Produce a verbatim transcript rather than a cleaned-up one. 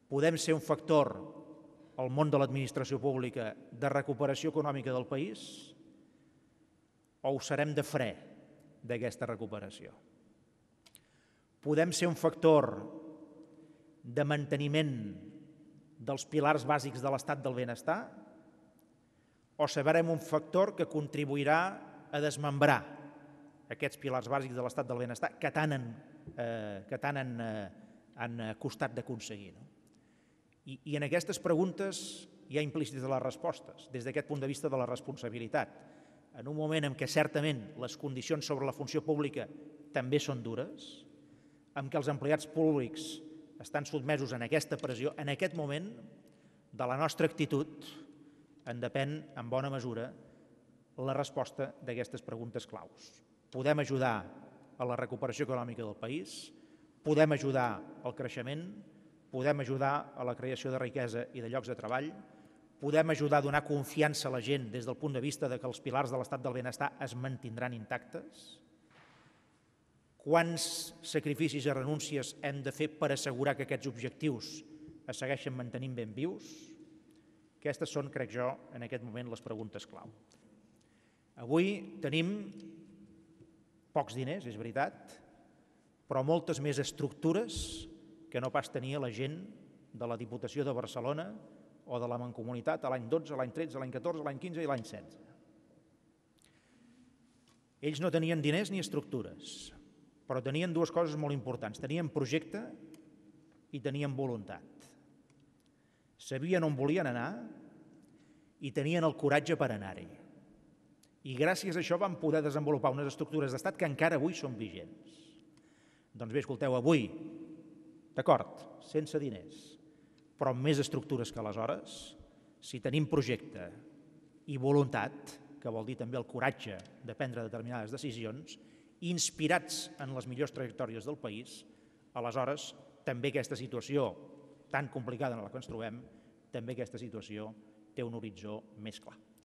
podem ser un factor al món de l'administració pública de recuperació econòmica del país o ho serem de fre d'aquesta recuperació? Podem ser un factor de manteniment dels pilars bàsics de l'estat del benestar o serem un factor que contribuirà a desmembrar aquests pilars bàsics de l'estat del benestar que tant han, eh, que tant han, eh, han costat d'aconseguir, no? I, I en aquestes preguntes hi ha implícites les respostes, des d'aquest punt de vista de la responsabilitat. En un moment en què certament les condicions sobre la funció pública també són dures, en què els empleats públics estan sotmesos en aquesta pressió, en aquest moment de la nostra actitud en depèn en bona mesura la resposta d'aquestes preguntes claus. Podem ajudar a la recuperació econòmica del país, podem ajudar al creixement, podem ajudar a la creació de riquesa i de llocs de treball, podem ajudar a donar confiança a la gent des del punt de vista de que els pilars de l'estat del benestar es mantindran intactes. Quants sacrificis i renúncies hem de fer per assegurar que aquests objectius es segueixen mantenint ben vius? Aquestes són, crec jo, en aquest moment les preguntes clau. Avui tenim pocs diners, és veritat, però moltes més estructures que no pas tenia la gent de la Diputació de Barcelona o de la Mancomunitat a l'any dotze, l'any tretze, l'any catorze, l'any quinze i l'any setze. Ells no tenien diners ni estructures, però tenien dues coses molt importants. Tenien projecte i tenien voluntat. Sabien on volien anar i tenien el coratge per anar-hi. I gràcies a això van poder desenvolupar unes estructures d'estat que encara avui són vigents. Doncs bé, escolteu, avui, d'acord, sense diners, però amb més estructures que aleshores, si tenim projecte i voluntat, que vol dir també el coratge de prendre determinades decisions, inspirats en les millors trajectòries del país, aleshores també aquesta situació tan complicada en la que ens trobem, també aquesta situació té un horitzó més clar.